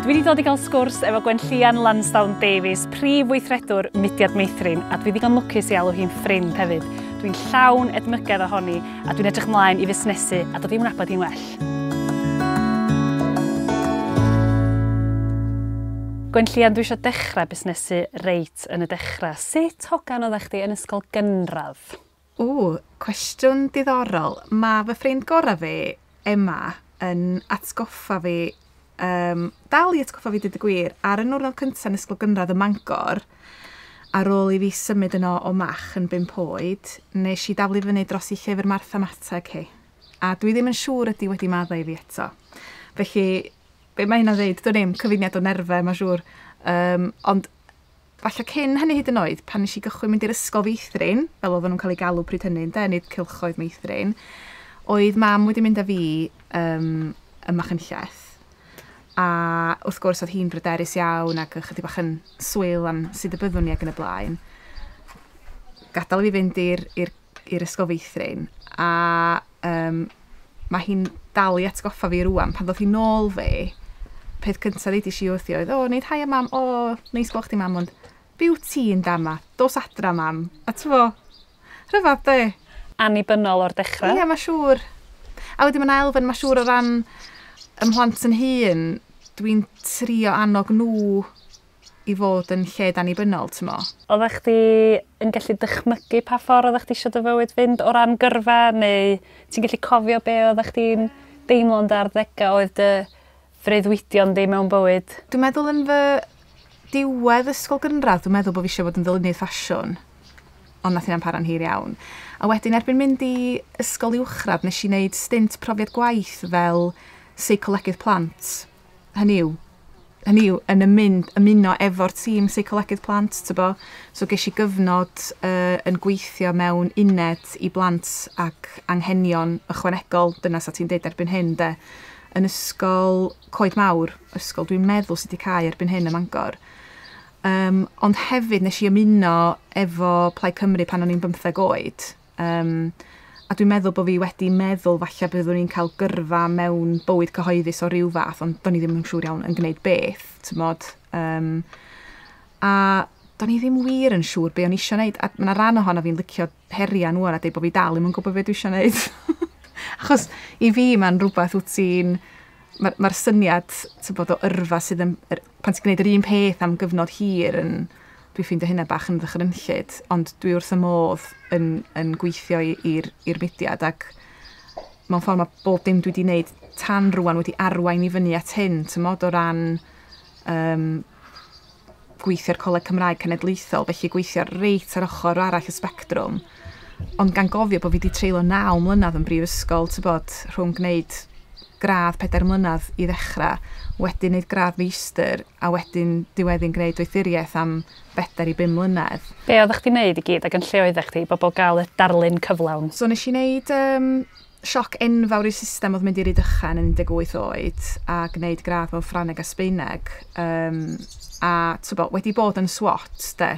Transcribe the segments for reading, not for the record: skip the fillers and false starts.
Dwi wedi dod i gael sgwrs efo Gwenllian Lansdown Davies, prif weithredwr Mudiad Meithrin, a dwi ddigon lwcus i alw hi'n ffrind hefyd. Dwi'n llawn edmygedd ohoni, a dwi'n edrych ymlaen i fusnesu a dod i'w nabod hi'n well. Gwenllian, dwi eisiau dechrau busnesu reit yn y dechrau. Sut hogan oeddech chdi yn ysgol gynradd? O, cwestiwn diddorol. Mae fy ffrind gorau fi, Emma, yn atgoffa fi, dal i atgoffa fi dweud y gwir, ar y niwrnod cyntaf yn ysgol gynradd ym Mangor, ar ôl i fi symud yno o Mach yn 5 oed, nes i daflu fyny dros i llyfr mathemateg hi. A dwi ddim yn siŵr ydy wedi maddau i fi eto. Felly, be mae hynna'n dweud? Dwi'n ddim, cyfuniad o nerfau, mae'n siŵr. Ond falle cyn hynny hyd yn oed, pan nes i gychwyn mynd i'r ysgol feithrin, fel oedden nhw'n cael ei galw pryd hynny, ynde, nid cylchoedd meithrin, oedd mam wedi mynd â fi ym Machynlleth. A wrth gwrs oedd hi'n bryderus iawn ac ychydig bach yn swil am sut y byddwn ni ac yn y blaen. Gadael i fi fynd i'r ysgol feithrin. A mae hi'n dal i atgoffa fi rŵan, pan ddoth hi nôl fi, peth cyntaf ddeudis i wrthi oedd, o, neud haia mam, o, neis gweld chdi mam, ond byw ti'n da ma, dos adra mam. A t'mo, rhyfedd de. Annibynnol o'r dechrau. Ie, mae'n siŵr. A wedyn mae'n elfen, mae'n siŵr o ran ym mhlant yn hun, dwi'n trio annog nhw i fod yn lled annibynnol, t'mo. Oeddech chdi yn gallu dychmygu pa ffordd oeddech chdi eisiau dy fywyd fynd o ran gyrfa, neu ti'n gallu cofio be oeddech chdi'n deimlo yn dy arddegau oedd dy freuddwydion di mewn bywyd? Dwi'n meddwl yn fy diwedd ysgol gynradd, dwi'n meddwl bod fi eisiau bod yn ddylunydd ffasiwn, ond nath hynna'n para'n hir iawn. A wedyn erbyn mynd i ysgol uwchradd, nes i wneud stint profiad gwaith fel seicolegydd plant. Hynny yw, yn ymuno efo'r tîm seicolegydd plant, tybo. So ges i gyfnod yn gweithio mewn uned i blant ac anghenion ychwanegol, dyna sa ti'n deud erbyn hyn, de, yn ysgol Coed Mawr, ysgol dwi'n meddwl sydd wedi cau erbyn hyn ym Mangor. Ond hefyd nes i ymuno efo Plaid Cymru pan o'n i'n 15 oed. A dwi'n meddwl bod fi wedi meddwl falle byddwn i'n cael gyrfa mewn bywyd cyhoeddus o ryw fath, ond do'n i ddim yn siŵr iawn yn gwneud beth, t'mod. A do'n i ddim wir yn siŵr be o'n i eisiau gwneud. A mae 'na ran ohono fi'n licio heriau nhw a deud bod fi dal ddim yn gwybod beth dwi eisiau gwneud. Achos i fi mae'n rhywbeth wyt ti'n... Mae'r syniad bod o yrfa sydd yn... Pan ti'n gwneud yr un peth am gyfnod hir yn... Dwi'n ffeindio hynna bach yn ddychrynllyd, ond dwi wrth y modd yn gweithio i'r mudiad, ac mewn ffordd mae bob dim dwi wedi gwneud tan rŵan wedi arwain i fyny at hyn, t'mod, o ran gweithio'r Coleg Cymraeg Cenedlaethol, felly gweithio reit ar ochr arall y sbectrwm, ond gan gofio bod fi wedi treulio 9 mlynedd yn brifysgol, t'bod, rhwng gwneud gradd 4 mlynedd i ddechrau, wedyn wneud gradd meistr, a wedyn diweddu'n gwneud doethuriaeth am 4 i 5 mlynedd. Be oeddech chdi'n neud i gyd ac yn lle oeddech chdi i bobl gael y darlun cyflawn? So nes i wneud sioc enfawr i'r system oedd mynd i Rydychen yn 18 oed a gwneud gradd mewn Ffrangeg a Sbaeneg. A t'bo, wedi bod yn SWAT, de,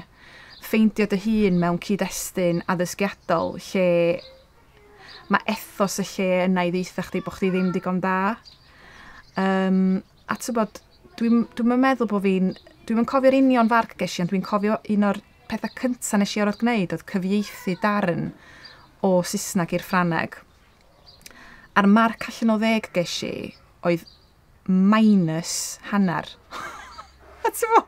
ffeindio dy hun mewn cyd-destun addysgiadol lle mae ethos y lle yna i ddeutha chdi bod chdi ddim digon da. A t'bod, dwi'm yn meddwl bod fi'n... Dwi'm yn cofio'r union farc ges i, ond dwi'n cofio un o'r pethau cyntaf nes i orfod gwneud oedd cyfieithu darn o Saesneg i'r Ffrangeg. A'r marc allan o 10 ges i oedd -0.5. A t'bo,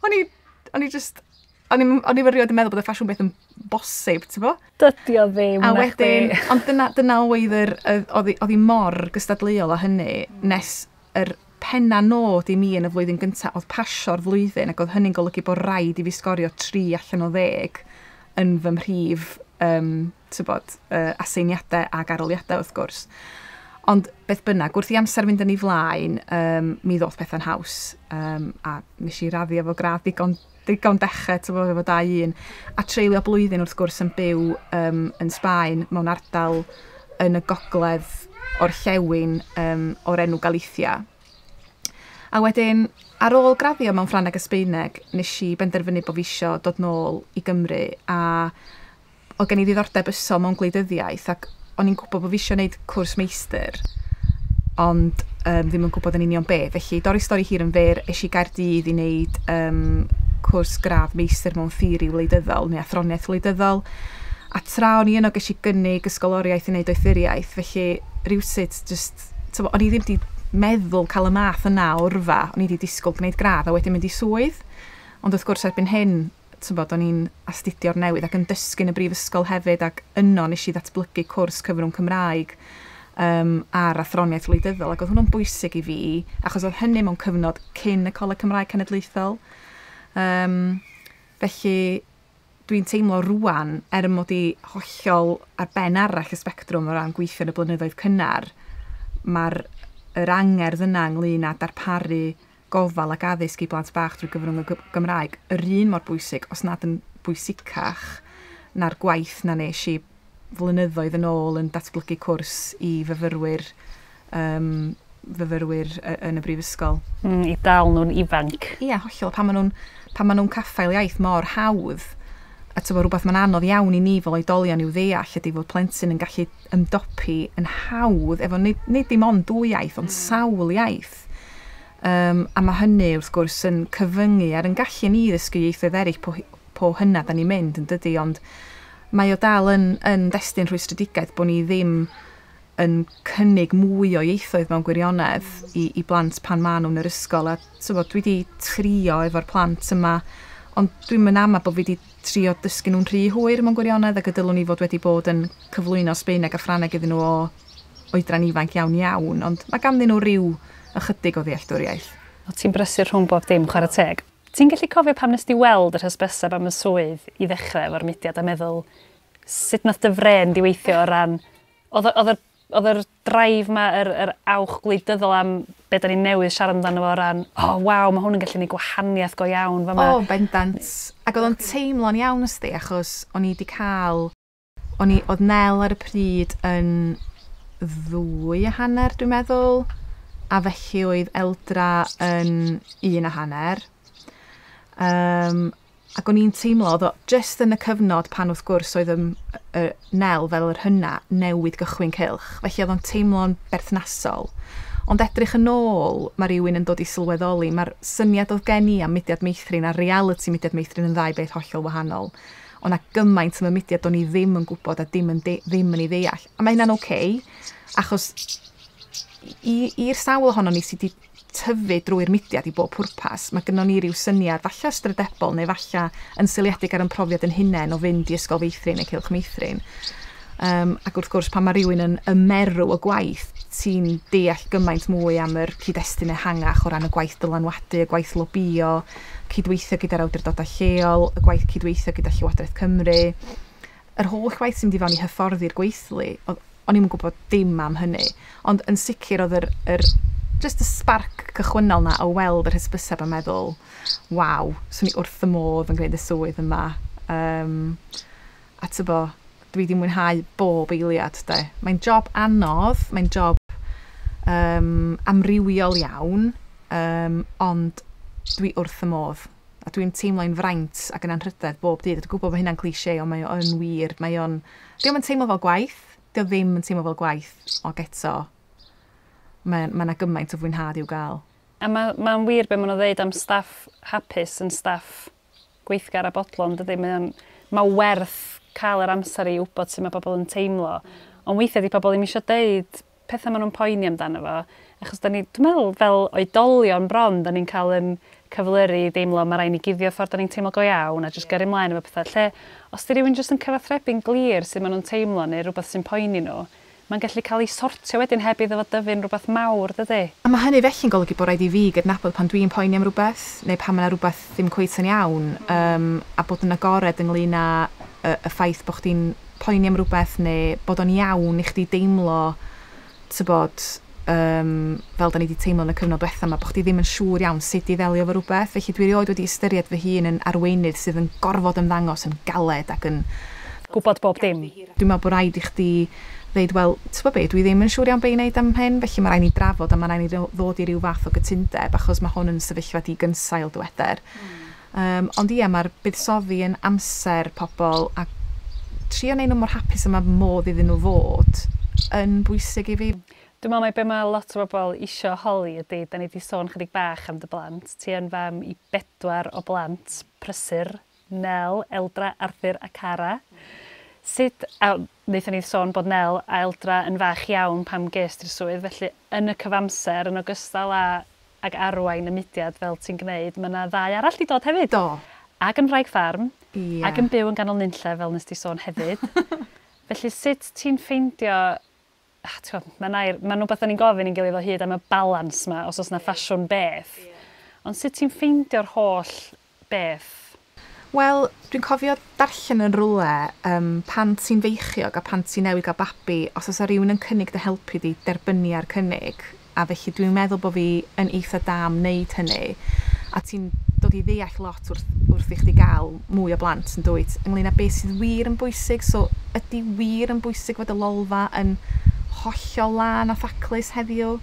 o'n i just... O'n i erioed yn meddwl bod y ffasiwn beth yn bosib, t'bo? Dydy o ddim, A na wedyn, chdi. ond dyna oedd yr, oedd hi mor gystadleuol â hynny, nes yr penna nod i mi yn y flwyddyn gyntaf oedd pasio'r flwyddyn, ac oedd hynny'n golygu bod rhaid i fi sgorio 3 allan o 10 yn fy mhrif, t'bod, aseiniadau ac arholiadau wrth gwrs. Ond beth bynnag, wrth i amser fynd yn ei flaen, mi ddoth pethau'n haws, a nes i raddio efo gradd digon dechrau, t'bo, efo 2-1, a treulio blwyddyn wrth gwrs yn byw yn Sbaen mewn ardal yn y gogledd orllewin o'r enw Galicia. A wedyn, ar ôl graddio mewn Ffrangeg a Sbaeneg, nes i benderfynu bod fi isio dod nôl i Gymru, a oedd gen i ddiddordeb ysol mewn gwleidyddiaeth, ac o'n i'n gwybod bod fi isio gwneud cwrs meistr. Ond ddim yn gwybod yn union be. Felly, dorri stori hir yn fyr, es i Gaerdydd i wneud cwrs gradd meistr mewn theori wleidyddol neu athroniaeth wleidyddol. A tra o'n i yno ges i gynnig ysgoloriaeth i wneud doethuriaeth, felly rywsut just, t'bo, o'n i ddim wedi meddwl cael y math yna o yrfa, o'n i wedi disgwyl gwneud gradd a wedyn mynd i swydd. Ond wrth gwrs erbyn hyn, t'bod, o'n i'n astudio'r newydd ac yn dysgu yn y brifysgol hefyd, ac yno nes i ddatblygu cwrs cyfrwng Cymraeg ar athroniaeth wleidyddol, ac oedd hwnnw'n bwysig i fi, achos oedd hynny mewn cyfnod cyn y Coleg Cymraeg Cenedlaethol. Felly dwi'n teimlo rŵan, er mod i hollol ar ben arall y sbectrwm o ran gweithio yn y blynyddoedd cynnar, mae'r yr angerdd yna ynglyn â darparu gofal ac addysg i blant bach drwy gyfrwng y Gymraeg yr un mor bwysig, os nad yn bwysicach, na'r gwaith na nes i flynyddoedd yn ôl yn datblygu cwrs i fyfyrwyr yn y brifysgol. I dal nhw'n ifanc. Ie, hollol. Pan maen nhw'n caffael iaith mor hawdd, a t'bo, rhywbeth mae'n anodd iawn i ni fel oedolion i'w ddeall ydy fod plentyn yn gallu ymdopi yn hawdd efo nid dim ond dwy iaith, ond sawl iaith. A mae hynny wrth gwrs yn cyfyngu ar yn gallu ni ddysgu ieithoedd eraill po hynna da ni'n mynd, yn dydy, ond mae o dal yn destun rhwystredigaeth bod ni ddim yn cynnig mwy o ieithoedd mewn gwirionedd i blant pan maen nhw'n yr ysgol. A t'bo, dwi wedi trio efo'r plant yma, ond dwi'n mynd ama bod fi wedi trio dysgu nhw'n rhy hwyr mewn gwirionedd, ac y dylwn i fod wedi bod yn cyflwyno Sbaeneg a Ffrangeg iddyn nhw o oedran ifanc iawn iawn, ond mae ganddyn nhw ryw ychydig o ddealltwriaeth. O, ti'n brysur rhwng bob dim, chwarae teg. Ti'n gallu cofio pam nes di weld yr hysbyseb am y swydd i ddechrau efo'r mudiad a meddwl sut nath dy fren di weithio o ran... Oedd yr drive ma, yr awch gwleidyddol am be da ni'n newydd siarad amdano fo o ran, oh, waw, mae hwn yn gallu neud gwahaniaeth go iawn fama. O, bendant. Ac oedd o'n teimlo'n iawn ysdi, achos o'n i wedi cael... Oedd Nel ar y pryd yn 2.5, dwi'n meddwl, a felly oedd Eldra yn 1.5. Ac o'n i'n teimlo, oedd o just yn y cyfnod pan wrth gwrs oedd Nel fel yr hynna newid gychwyn cylch, felly oedd o'n teimlo'n berthnasol. Ond edrych yn ôl, mae rhywun yn dod i sylweddoli, mae'r syniad oedd gen i am Mudiad Meithrin a reality Mudiad Meithrin yn ddau beth hollol wahanol. Ond na gymaint am y mudiad o'n i ddim yn gwybod a ddim yn ei ddeall. A mae hynna'n oce, achos i'r sawl ohonon ni sydd wedi tyfu drwy'r mudiad i bob pwrpas, mae gynnon ni ryw syniad, falle ystrydebol neu falle yn seiliedig ar ein profiad yn hunain o fynd i ysgol feithrin neu cylch meithrin. Ac wrth gwrs, pan mae rhywun yn ymerw y gwaith, ti'n deall gymaint mwy am yr cyd-destun ehangach o ran y gwaith dylanwadu, y gwaith lobïo, cydweithio gyda'r awdurdodau lleol, y gwaith cydweithio gyda Llywodraeth Cymru. Yr holl waith sy'n mynd i fewn i hyfforddi'r gweithlu, o'n i'm yn gwybod dim am hynny. Ond yn sicr oedd yr just y sparc cychwynnol na o weld yr hysbyseb a meddwl, waw, swn i wrth y modd yn gwneud y swydd yma. A tybo, dwi wedi mwynhau bob eiliad, de. Mae'n job anodd, mae'n job amrywiol iawn, ond dwi wrth y modd. A dwi'n teimlo'n fraint ac yn anrhydedd bob dydd. Dwi'n gwybod bod hynna'n cliché, ond mae o yn wir. Mae o'n... Dio'm yn teimlo fel gwaith. Dio ddim yn teimlo fel gwaith, ond eto, mae yna gymaint o fwynhad i'w gael. A mae'n wir be maen nhw'n dweud am staff hapus yn staff gweithgar a bodlon, dydy? Mae werth cael yr amser i wybod sut mae pobl yn teimlo. Ond weithiau di pobl ddim eisiau deud pethau maen nhw'n poeni amdano fo, achos da ni, dwi'n meddwl, fel oedolion bron, da ni'n cael yn cyflyru i deimlo mae rhaid ni guddio ffordd da ni'n teimlo go iawn a jyst gyrru ymlaen efo pethau. Lle, os di rhywun jyst yn cyfathrebu'n glir sut maen nhw'n teimlo neu rhywbeth sy'n poeni nhw, mae'n gallu cael ei sortio wedyn heb iddo fo dyfu'n rhywbeth mawr, dydy? A mae hynny felly'n golygu bod rhaid i fi gydnabod pan dwi'n poeni am rhywbeth, neu pan mae yna rhywbeth ddim cweit yn iawn, a bod yn agored ynglyn â y ffaith bod chdi'n poeni am rhywbeth, neu bod o'n iawn i chdi deimlo, tybod, fel da ni wedi teimlo yn y cyfnod diwetha yma, bod chdi ddim yn siŵr iawn sut i ddelio efo rhywbeth. Felly dwi erioed wedi ystyried fy hun yn arweinydd sydd yn gorfod ymddangos yn galed ac yn gwybod bob dim. Dwi'n meddwl bod rhaid i chdi ddeud, wel, ti'n gwybod be, dwi ddim yn siŵr iawn be i wneud am hyn, felly mae rhaid ni drafod a mae rhaid ni ddod i ryw fath o gytundeb, achos mae hwn yn sefyllfa digynsail, dyweder. Ond ie, mae'r buddsoddi yn amser pobl a trio wneud nhw mor hapus yma modd iddyn nhw fod yn bwysig i fi. Dwi'n meddwl mai be mae lot o bobl isio holi ydy, da ni wedi sôn chydig bach am dy blant. Ti yn fam i bedwar o blant prysur, Nel, Eldra, Arthur a Cara. Sut, a wnaethon ni sôn bod Nel a Eldra yn fach iawn pam ges ti'r swydd, felly yn y cyfamser, yn ogystal â ag arwain y mudiad fel ti'n gwneud, mae yna ddau arall 'di dod hefyd. Do. Ac yn wraig ffarm, Ia. ac yn byw yn ganol nunlle, fel nes di sôn hefyd. Felly sut ti'n ffeindio, ti'n gwbod, mae'n air, mae'n rhywbeth da ni'n gofyn i'n gilydd o hyd am y balans 'ma, os oes 'na ffasiwn beth. Ond sut ti'n ffeindio'r holl beth? Wel, dwi'n cofio darllen yn rhywle pan ti'n feichiog a pan ti'n newydd gael babi, os oes rhywun yn cynnig dy helpu di, derbynia'r cynnig. A felly dwi'n meddwl bod fi yn eitha da am wneud hynny. A ti'n dod i ddeall lot wrth i chdi gael mwy o blant yn dwyt, ynglyn â beth sydd wir yn bwysig. So, ydy wir yn bwysig fod y lolfa yn hollol lân a thaclus heddiw?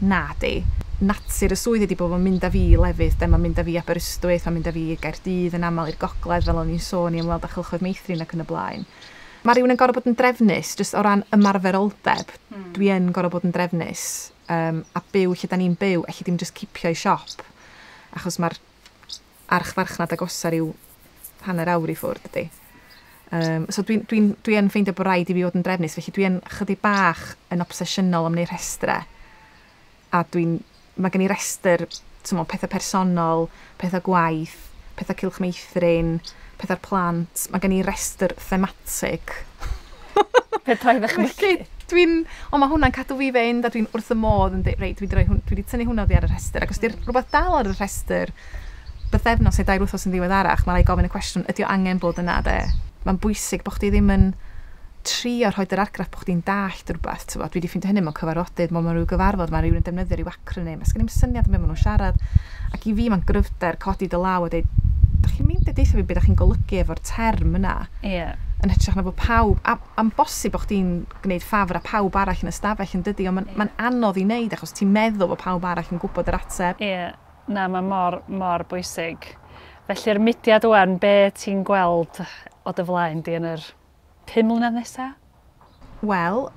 Na di. Natur y swydd ydy bod o'n mynd â fi i lefydd, de, mae'n mynd â fi i Aberystwyth, mae'n mynd â fi i Gaerdydd yn aml, i'r gogledd, fel o'n i'n sôn, i ymweld â chylchoedd meithrin ac yn y blaen. Mae rhywun yn gorfod bod yn drefnus, jyst o ran ymarferoldeb, dwi yn gorfod bod yn drefnus, a byw lle da ni'n byw, elli di'm jyst cipio i siop, achos mae'r archfarchnad agosa ryw hanner awr i ffwrdd, dydy. So dwi yn ffeindio bod rhaid i fi fod yn drefnus, felly dwi yn chydig bach yn obsesiynol am wneud rhestrau. A mae gen i restr, t'mo, pethau personol, pethau gwaith, pethau cylch meithrin, pethau'r plant. Mae gen i restr thematig. Fedra i ddychmygu. Felly, ond mae hwnna'n cadw fi fynd, a dwi'n wrth y modd yn dweud, reit, dwi wedi tynnu hwnna oddi ar y rhestr. Ac os di'r rhywbeth dal ar y rhestr, bythefnos neu 2 wythnos yn ddiweddarach, mae rhaid gofyn y cwestiwn, ydy o angen bod yna, de? Mae'n bwysig bod chdi ddim yn trio rhoid yr argraff bod chdi'n dallt rhywbeth, t'bo'. Dwi wedi ffeindio hynny mewn cyfarfodydd, mewn rhyw gyfarfod, mae rhywun yn defnyddio rhyw acronym, a sgen i'm syniad am be maen nhw'n siarad. Ac i fi mae'n gryfder codi dy law a dweud, dach chi'n meindio deutha fi be dach chi'n golygu efo'r term yna? Yn hytrach na bod pawb, a am bosib bod chdi'n gwneud ffafr a pawb arall yn y stafell yn dydi, ond mae'n anodd i wneud achos ti'n meddwl bod pawb arall yn gwybod yr ateb. Ie, na, mae mor, mor bwysig. Felly'r mudiad ŵan, be ti'n gweld o dy flaen di yn yr 5 mlynedd nesaf? Wel,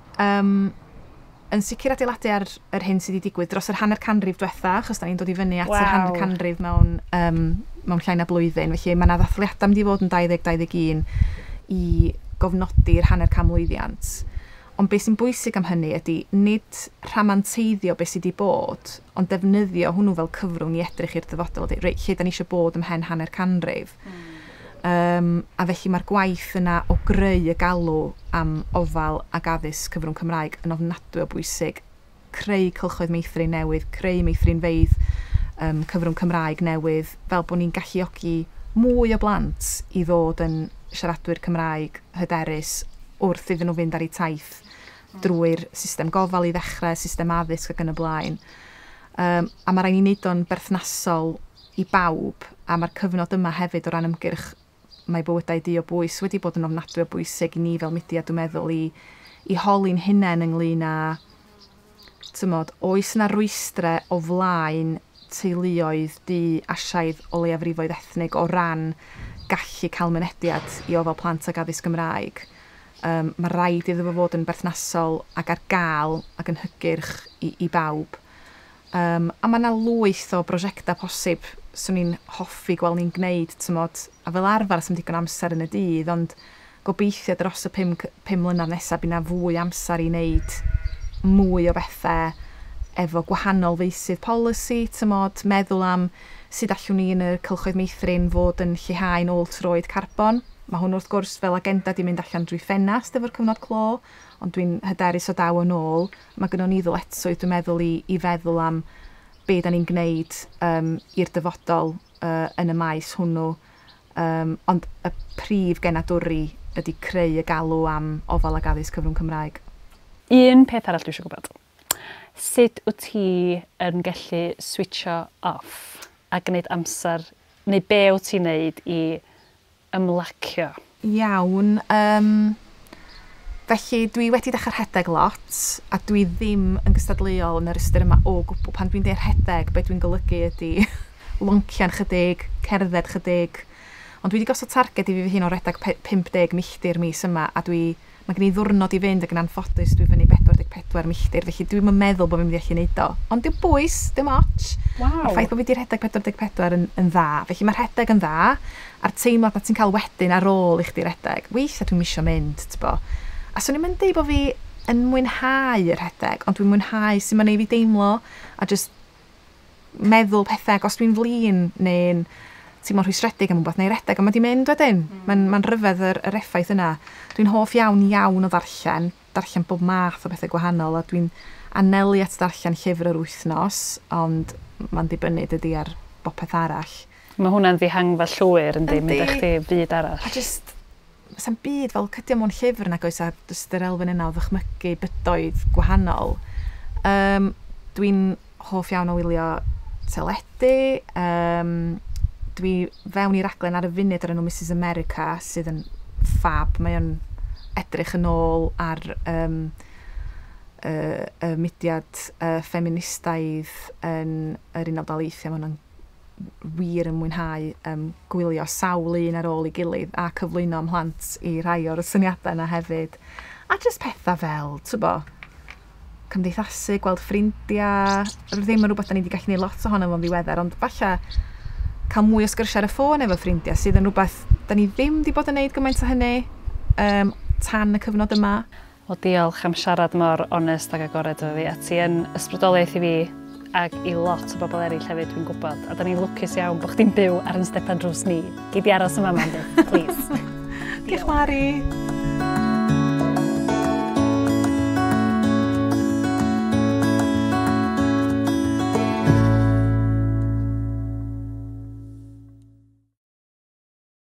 yn sicr adeiladu ar yr hyn sydd wedi digwydd dros yr hanner canrif diwetha, achos da ni'n dod i fyny at yr hanner canrif mewn llai na blwyddyn. Felly mae yna ddathliadau mynd i fod yn 2021 i gofnodi'r hanner canmlwyddiant. Ond beth sy'n bwysig am hynny ydy nid rhamanteiddio beth sydd wedi bod, ond defnyddio hwnnw fel cyfrwng i edrych i'r dyfodol. Dweud, reit, lle da ni eisiau bod ymhen hanner canrif? A felly mae'r gwaith yna o greu y galw am ofal ac addysg cyfrwng Cymraeg yn ofnadwy o bwysig. Creu cylchoedd meithrin newydd, creu meithrinfeydd cyfrwng Cymraeg newydd, fel bod ni'n galluogi mwy o blant i ddod yn siaradwyr Cymraeg hyderus wrth iddyn nhw fynd ar eu taith drwy'r system gofal i ddechrau, system addysg ac yn y blaen. A mae rhaid ni wneud o'n berthnasol i bawb, a mae'r cyfnod yma hefyd o ran ymgyrch Mae Bywydau Du o Bwys wedi bod yn ofnadwy o bwysig i ni fel mudiad, dwi'n meddwl, i holi'n hunain ynglyn â, tymod, oes yna rwystrau o flaen teuluoedd du Asiaidd o leiafrifoedd ethnig o ran gallu cael mynediad i ofal plant ac addysg Gymraeg. Mae rhaid iddo fo fod yn berthnasol ac ar gael ac yn hygyrch i bawb. A mae yna lwyth o brosiectau posib swn i'n hoffi gweld ni'n gwneud, tymod, a fel arfer sy'm digon amser yn y dydd, ond gobeithio dros y 5 mlynedd nesaf bydd 'na fwy amser i wneud mwy o bethau efo gwahanol feysydd polisi, tymod, meddwl am sut allwn ni yn y cylchoedd meithrin fod yn lleihau'n ôl troed carbon. Mae hwn wrth gwrs fel agenda di mynd allan drwy ffenast efo'r cyfnod clo, ond dwi'n hyderus o daw yn ôl. Mae gynnon ni ddyletswydd, dwi'n meddwl, i feddwl am be da ni'n gwneud i'r dyfodol yn y maes hwnnw. Ond y prif genadwri ydy creu y galw am ofal ac addysg cyfrwng Cymraeg. Un peth arall dwi eisiau gwybod. Sut wyt ti yn gallu switcho off a gwneud amser, neu be wyt ti'n neud i ymlacio? Iawn. Felly dwi wedi dechrau rhedeg lot, a dwi ddim yn gystadleuol yn yr ystyr yma o gwbl. Pan dwi'n deud rhedeg, be dwi'n golygu ydy loncian chydig, cerdded chydig. Ond dwi wedi gosod targed i fi fy hun o redeg 50 milltir mis yma, a mae gen i ddwrnod i fynd ac yn anffodus dwi fyny 44 44 milltir, felly dwi'n meddwl bod fi'n mynd i allu neud o. Ond dim bwys, dim ots. Waw. Mae'r ffaith bod fi wedi rhedeg 44 yn dda. Felly mae'r rhedeg yn dda, a'r teimlad na ti'n cael wedyn ar ôl i chdi redeg. Weithiau dwi'n misio mynd, t'bo. A swn i'n mynd deud bod fi yn mwynhau y rhedeg, ond dwi'n mwynhau sut mae'n neud fi deimlo, a just meddwl pethau, ac os dwi'n flin neu'n teimlo'n rhwystredig am rhywbeth, neu redeg, a mae di mynd wedyn. Mae'n rhyfedd yr effaith yna. Dwi'n hoff iawn iawn o ddarllen, darllen bob math o bethau gwahanol, a dwi'n anelu at ddarllen llyfr yr wythnos, ond mae'n dibynnu dydy ar bopeth arall. Mae hwnna'n ddihangfa llwyr, yndi, mynd â chdi fyd arall. A just, sa'm byd fel cydio mewn llyfr nag oes, a just yr elfen yna o ddychmygu bydoedd gwahanol. Dwi'n hoff iawn o wylio teledu. Dwi fewn i raglen ar y funud ar enw Mrs America, sydd yn ffab. Mae o'n edrych yn ôl ar y mudiad feministaidd yn yr Unol Daleithiau. Mae hwnna'n wir yn mwynhau gwylio sawl un ar ôl ei gilydd a cyflwyno mhlant i rai o'r syniadau yna hefyd. A just pethau fel, t'bo, cymdeithasu, gweld ffrindiau, ddim yn rhywbeth da ni wedi gallu gwneud lot ohono fo'n ddiweddar, ond falle cael mwy o sgyrsiau ar y ffôn efo ffrindiau, sydd yn rhywbeth da ni ddim wedi bod yn gwneud gymaint o hynny tan y cyfnod yma. Wel, diolch am siarad mor onest ac agored efo fi, a ti yn ysbrydoliaeth i fi ac i lot o bobl eraill hefyd, dwi'n gwybod. A da ni'n lwcus iawn bod chdi'n byw ar yn stepan drws ni. Gei di aros yma, Mandy, please. Diolch, Mari.